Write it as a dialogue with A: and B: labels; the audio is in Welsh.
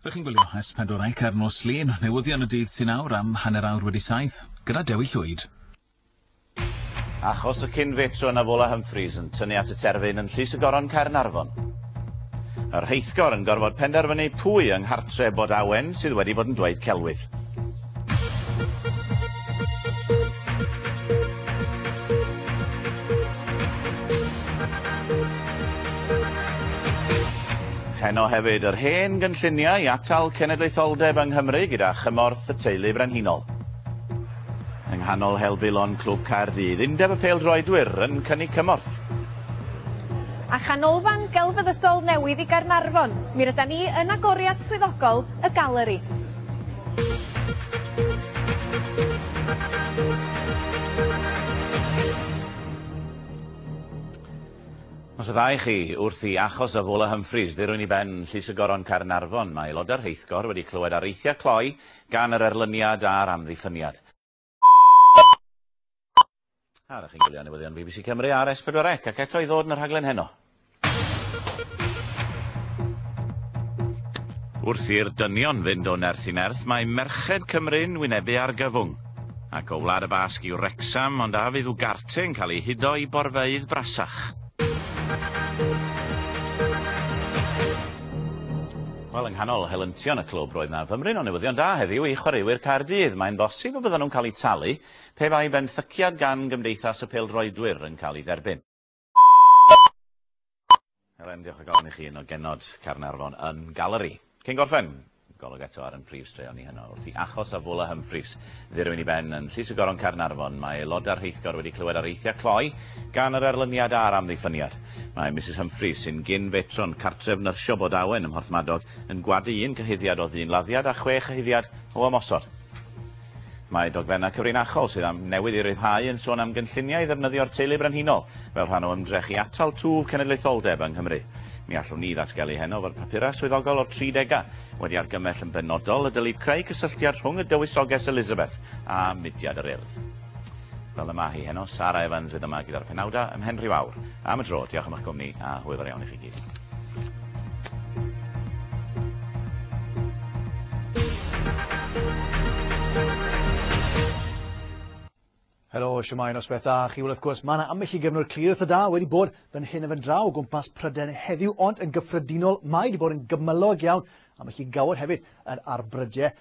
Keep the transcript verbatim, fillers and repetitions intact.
A: Rydych chi'n gwylio S pedwar C ar nos Lun, newyddion y dydd sy'n awr am hanner awr wedi saith, gyda Dewi Llwyd.
B: Achos y cyn-fetron Avola Humphreys yn tynnu at y terfyn yn Llys y Goron Caernarfon. Yr rheithgor yn gorfod penderfynu pwy yng nghartre Bod Awen sydd wedi bod yn dweud celwydd. Heno hefyd yr hen gynlluniau i atal cenedlaetholdeb yng Nghymru gyda chymorth y teulu brenhinol. Yng nghanol helbulon Clwb Caerdydd, Undeb y Pêl-droedwyr yn cynnig cymorth.
C: A chanolfan gelfyddydol newydd i Gaernarfon, mi rydan ni yn agoriad swyddogol y galeri.
B: Nos y ddau chi wrth i achos Avola Humphreys ddirwyn i ben Llys y Goron Caernarfon, mae aelodau'r rheithgor wedi clywed areithiau cloi gan yr erlyniad a'r amddiffyniad. A rydych chi'n gwylio newyddion B B C Cymru ar S pedwar C ac eto i ddod yn y rhaglen heno. Wrth i'r dynion fynd o nerth i nerth, mae merched Cymru'n wynebu argyfwng. Ac o Wlad y Basg i Wrecsam, ond a fydd Ugarte'n cael ei hudo i borfeydd brasach. Wel, yng nghanol helyntion y clwb roedd na fymryn o newyddion da heddiw i chwaraewyr Caerdydd. Mae'n bosib y byddan nhw'n cael eu talu pe bai benthyciad gan Gymdeithas y Pêl-droedwyr yn cael ei dderbyn. Helen, diolch o galon i chi un o genod Caernarfon yn Galeri. Cyn gorffen, golwg eto ar ein prif straeon ni heno. Wrth i achos Avola Humphreys ddirwyn i ben yn Llys y Goron Caernarfon, mae aelodau'r rheithgor wedi clywed areithiau cloi gan yr erlyniad a'r amddiffyniad. Mae Missus Humphreys, sy'n gyn-fetron cartref nyrsio Bod Awen ym Mhorthmadog, yn gwadu un cyhuddiad o ddynladdiad a chwe chyhuddiad o ymosod. Mae dogfennau cyfrinachol sydd am newydd i ryddhau yn sôn am gynlluniau i ddefnyddio'r teulu brenhinol fel rhan o ymdrech i atal twf cenedlaetholdeb yng Nghymru. Mi allwn ni ddatgelu heno fod papurau swyddogol o'r tri degau wedi argymell yn benodol y dylid creu cysylltiad rhwng y dywysoges Elizabeth a mudiad yr Urdd. Fel y mae hi heno, Sara Evans fydd yma gyda'r penawdau ymhen rhyw awr. Am y tro, diolch am eich cwmni a hwyl fawr iawn i chi gyd.
D: Helo, siwmai, noswaith dda chi. Wel, wrth gwrs, mae yna ambell i gyfnod clir eitha da wedi bod fan hyn a fan draw o gwmpas Prydain heddiw, ond yn gyffredinol mae wedi bod yn gymylog iawn, ambell i gawod hefyd yn arbrydiau,